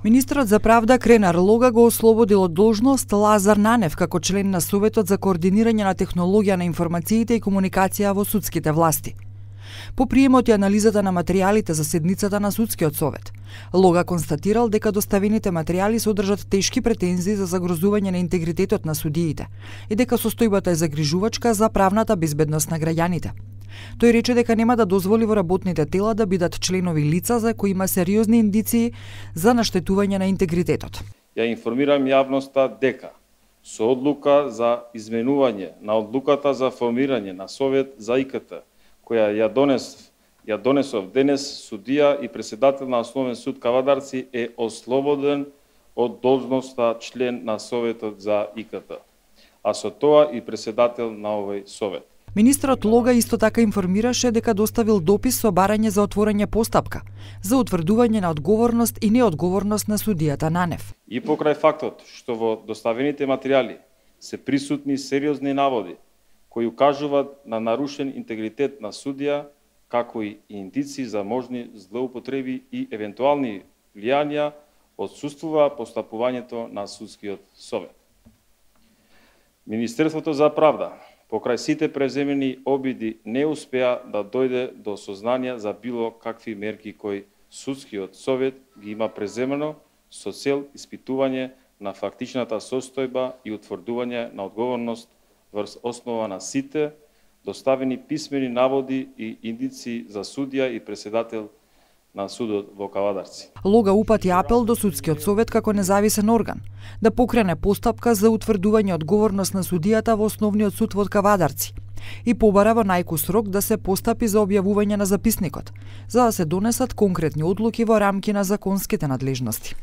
Министерот за правда Кренар Лога го ослободил од должност Лазар Нанев како член на Советот за координирање на технологија на информациите и комуникација во судските власти. По приемот и анализата на материјалите за седницата на Судскиот совет, Лога констатирал дека доставените материјали содржат тешки претензии за загрозување на интегритетот на судиите и дека состојбата е загрижувачка за правната безбедност на граѓаните. Тој рече дека нема да дозволи во работните тела да бидат членови лица за кои има сериозни индиции за наштетување на интегритетот. Ја информирам јавноста дека со одлука за изменување на одлуката за формирање на Совет за ИКТ, која ја донесов денес, судија и председател на Основен суд Кавадарци е ослободен од должноста член на Советот за ИКТ, а со тоа и председател на овој Совет. Министерот Лога исто така информираше дека доставил допис со барање за отворање постапка за утврдување на одговорност и неодговорност на судијата Нанев. И покрај фактот што во доставените материјали се присутни сериозни наводи кои укажуваат на нарушен интегритет на судија, како и индици за можни злоупотреби и евентуални влијанија, отсуствува постапувањето на Судскиот совет. Министерството за правда покрај сите преземени обиди не успеа да дојде до сознание за било какви мерки кои Судскиот совет ги има преземено со цел испитување на фактичната состојба и утврдување на одговорност врз основа на сите доставени писмени наводи и индици за судија и председател на судот во Кавадарци. Лога упати апел до Судскиот совет како независен орган да покрене постапка за утврдување одговорност на судијата во Основниот суд во Кавадарци и побара во најкус рок да се постапи за објавување на записникот, за да се донесат конкретни одлуки во рамки на законските надлежности.